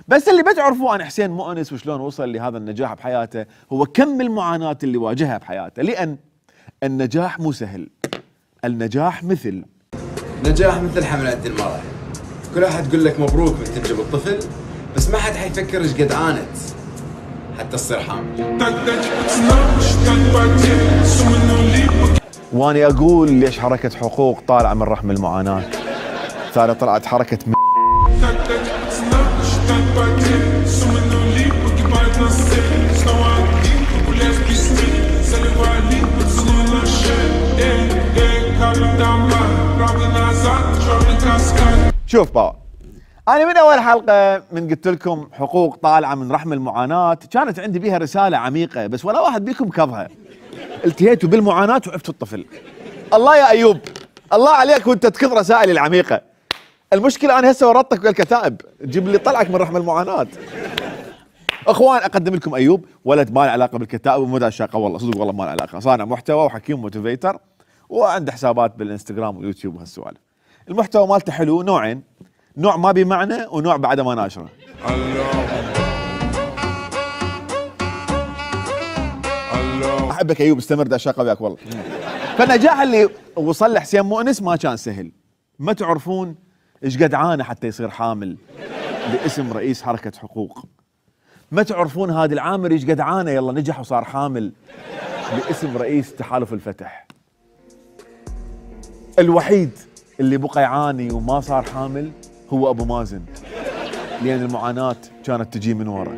بس اللي بتعرفوه عن حسين مؤنس وشلون وصل لهذا النجاح بحياته هو كم المعاناة اللي واجهها بحياته، لأن النجاح مو سهل. النجاح مثل حملات المرأة، كل واحد تقول لك مبروك من تنجب الطفل، بس ما حد حيفكر ايش قد عانت حتى تصير حامل. واني اقول ليش حركة حقوق طالعة من رحم المعاناة، ثاني طلعت حركة شوف باو، أنا من أول حلقة من قلت لكم حقوق طالعة من رحم المعاناة كانت عندي بيها رسالة عميقة، بس ولا واحد بيكم كظها. التهيتوا بالمعاناة وعفتوا الطفل. الله يا أيوب، الله عليك وأنت تكظ رسائلي العميقة. المشكلة أنا هسه ورطتك بالكتائب، جيب لي طلعك من رحم المعاناة. اخوان اقدم لكم ايوب، ولد ما له علاقه بالكتائب ومو شاقه، والله صدق والله ما له علاقه، صانع محتوى وحكيم موتيفيتر وعنده حسابات بالانستغرام واليوتيوب وهالسوالف. المحتوى مالته حلو، نوعين، نوع ما بمعنى ونوع بعد ما ناشره. احبك ايوب، استمر دا شاقه وياك والله. فالنجاح اللي وصل له حسين مؤنس ما كان سهل. ما تعرفون ايش قد عانى حتى يصير حامل باسم رئيس حركه حقوق. ما تعرفون هادي العامر ايش قد عانى يلا نجح وصار حامل باسم رئيس تحالف الفتح. الوحيد اللي بقى يعاني وما صار حامل هو ابو مازن، لان المعاناة كانت تجي من ورا.